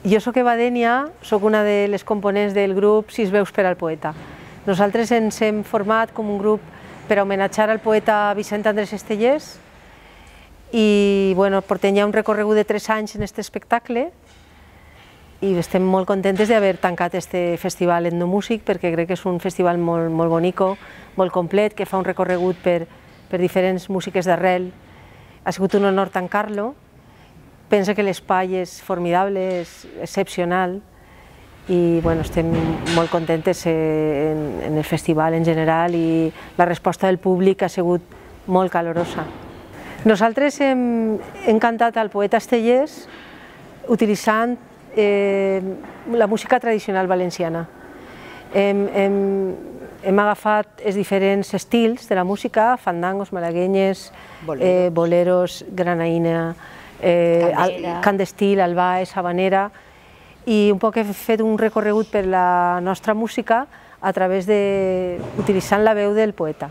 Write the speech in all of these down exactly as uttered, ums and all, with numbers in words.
Jo soc Eva Dènia, soc una de les components del grup Sis veus per al poeta. Nosaltres ens hem format com un grup per homenatjar al poeta Vicent Andrés Estellés i bueno, portem ja un recorregut de tres anys en aquest espectacle i estem molt contentes d'haver tancat este festival etnomúsic perquè crec que és un festival molt, molt bonico, molt complet, que fa un recorregut per, per diferents músiques d'arrel. Ha sigut un honor tancar-lo. Penso que l'espai és formidable, és excepcional i bueno, estem molt contentes en, en el festival en general i la resposta del públic ha sigut molt calorosa. Nosaltres hem, hem cantat al poeta Estellés utilitzant eh, la música tradicional valenciana. Hem, hem, hem agafat els diferents estils de la música, fandangos, malaguenyes, boleros, eh, boleros granaïna, Eh, cant d'estil, albaes, habanera, i un poc he fet un recorregut per la nostra música a través de, utilitzant la veu del poeta.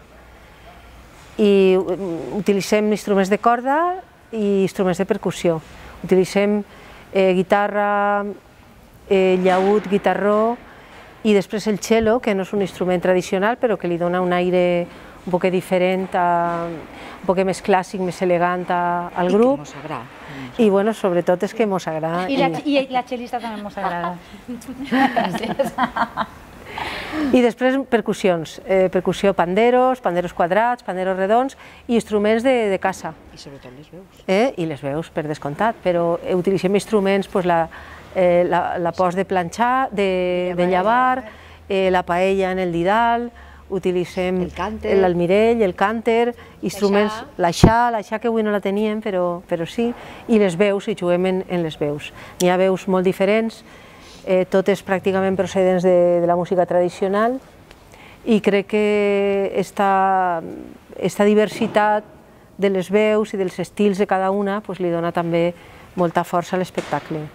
I utilitzem instruments de corda i instruments de percussió. Utilitzem eh, guitarra, eh, llaüt, guitarró i després el cello, que no és un instrument tradicional però que li dona un aire un poc diferent, a, un poc més clàssic, més elegant a, al grup. I que mos agrada. I bueno, sobretot és que mos agrada. I la, i la xelista també mos agrada. I després percussions, eh, percussió panderos, panderos quadrats, panderos redons i instruments de, de casa. I sobretot les veus. Eh? I les veus, per descomptat, però utilitzem instruments, pues, la, eh, la, la post de planxar, de, de llavar, eh, la paella en el didal, utilitzem l'almirell, el cànter, instruments, l'aixà, l'aixà que avui no la teníem, però, però sí, i les veus, i juguem en, en les veus. N'hi ha veus molt diferents, eh, totes pràcticament procedents de, de la música tradicional, i crec que esta, esta diversitat de les veus i dels estils de cada una pues, li dona també molta força a l'espectacle.